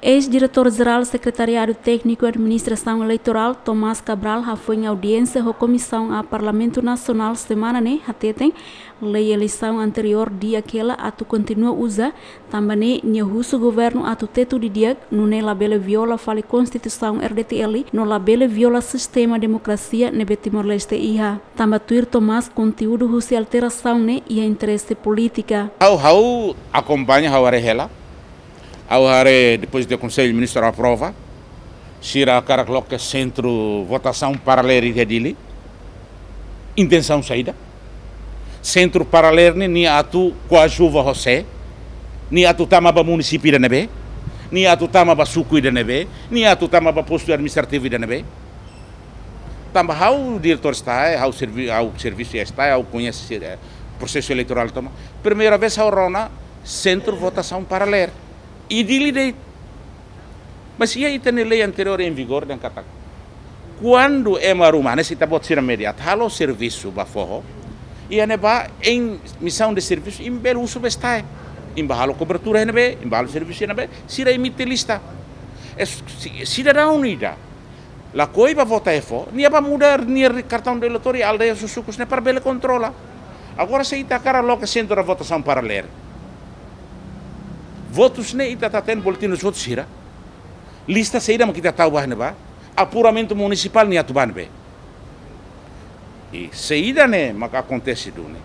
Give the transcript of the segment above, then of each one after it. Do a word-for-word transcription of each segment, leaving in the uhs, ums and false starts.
Eis-Diretór Jerál Sekretariadu Tékniku Administrasaun Eleitorál, Tomás Cabral, hafoin audiénsia ho Komisaun A Parlamentu Nasionál semana ne'e, hateten lei eleisaun anteriór di'ak hela atu kontinua uza, tanba ne'e nia husu governu atu tetu didi'ak, nune'e labele viola fali Konstituisaun R D T L, no labele viola sistema demokrasia ne'ebé Timor-Leste iha. Tanba tuir Tomás, konteúdu husi alterasaun ne'e iha interese polítika. Ha'u, ha'u akompaña, ha'u haree hela. Ha'u haree depois de Konsellu Ministru aprova, sira hakarak loke sentru votasaun paralelu iha Dili. Intensaun saida? Sentru paralelu ne'e, nia atu koadjuva ho sé? Nia atu tama ba munisípiu ida ne'ebé? Nia atu tama ba suku ida ne'ebé? Nia atu tama ba postu administrativu ida ne'ebé? Tanba ha'u diretór STAE, ha'u servi-, ha'u servisu iha STAE, ha'u koñese, eh, prosesu eleitorál tomak. Primeira vez ha'u rona sentru votasaun paralelu. I Dili de'it. Mas iha ita-nia lei anteriór em vigor dehan katak, kuandu ema ruma, hanesan ita-boot sira média, atu halo servisu ba foho, iha ne'ebá em missão de serviço, imi bele husu ba STAE. Imi bá halo kobertura iha ne'ebé, imi bá halo servisu iha ne'ebé, sira emite lista. Es-, si-, sidadaun ida lakohi ba vota iha foho, nia bá muda nia kartaun eleitór iha aldeia, suku sira-ne'e para bele kontrola. Agora, se ita hakarak loke sentru votasaun paralelu, votus ne'e ita hatene boletin dos votus sira? Lista saida mak ita tau ba ne'ebá? Apuramentu munisipál nia atu ba ne'ebé? I saida ne'e maka akontese duni?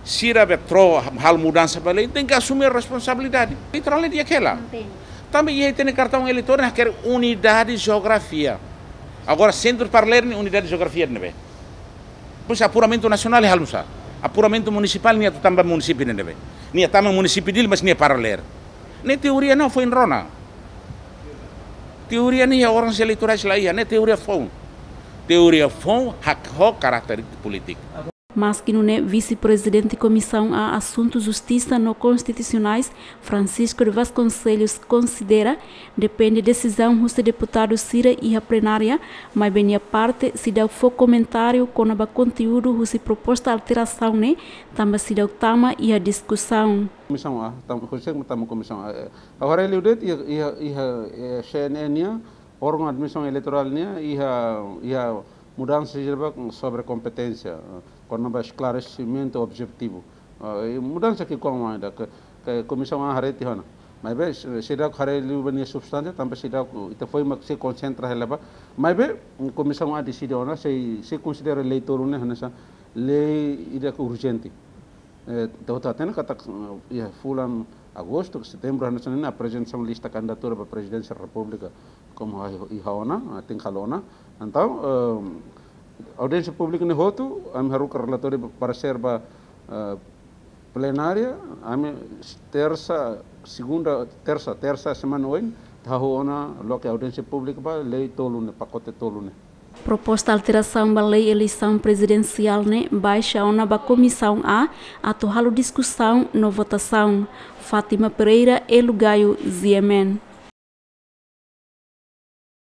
Sira be tro halo mudansa ba lei, tenke asume responsabilidade. Eleitorál ne'e di'ak hela. Tanba iha ita-nia kartaun eleitór ne'e hakerek unidade jeografia. Agora, sentru paralelu ne'e unidade jeografia ne'ebé? Pois apuramentu nasionál halo nusá? Apuramentu munisipál nia atu tama ba munisípiu ne'ebé? Nia tama munisípiu Dili, mas nia paralelu. Ne'e teoria, não, foin rona. Teoria ne'e iha órgauns eleitorais la iha, ne'e teoria foun. Teoria foun hak ho karáter polítiku. Maski nune'e, Vise-Prezidente Komisaun A Asuntu Justisa no Konstitusionais, Francisco de Vasconcelos, konsidera depende desizaun husi deputadu sira iha plenária, maibé nia parte seidauk fó komentáriu kona-ba konteúdu husi proposta alterasaun ne'e, tanba seidauk tama iha diskusaun. Komisaun A, tam-, konsege tama Komisaun A, eh, ha'u haree liu de'it iha, iha, iha, eh, C N E nian, órgaun administrasaun eleitorál nian, iha, iha mudansa sira ba sobre kompeténsia, eh, kona-ba esklaresimentu objetivu. Ah, i mudansa ki'ikoan ida ke, ke Komisaun A haree tiha ona. Maibé, se, seidauk haree liu ba nia substánsia, tanba seidauk, ita foin mak sei konsentra hela ba. Maibé, Komisaun A deside ona, sei, sei konsidera lei tolu ne'e hanesan lei ida ke urjente. Eh, ita hotu hatene katak, eh, iha fulan agostu, setembru, hanesan ne'e aprezentasaun lista kandidatura ba Prezidénsia Repúblika, komu iha, iha ona, eh, tenke halo ona. Entaun, eh, audiénsia públika ne'e hotu, ami haruka relatóriu ba, paresér ba, eh, plenária, ami tersa, segunda, tersa, tersa semana oin, ita hahú ona loke audiénsia públika ba lei tolu ne'e, pakote tolu ne'e. Proposta alterasaun ba lei eleisaun prezidensiál ne'e baixa ona ba Komisaun A atu halo diskusaun no votasaun. Fátima Pereira, Elo Gayo, G M N.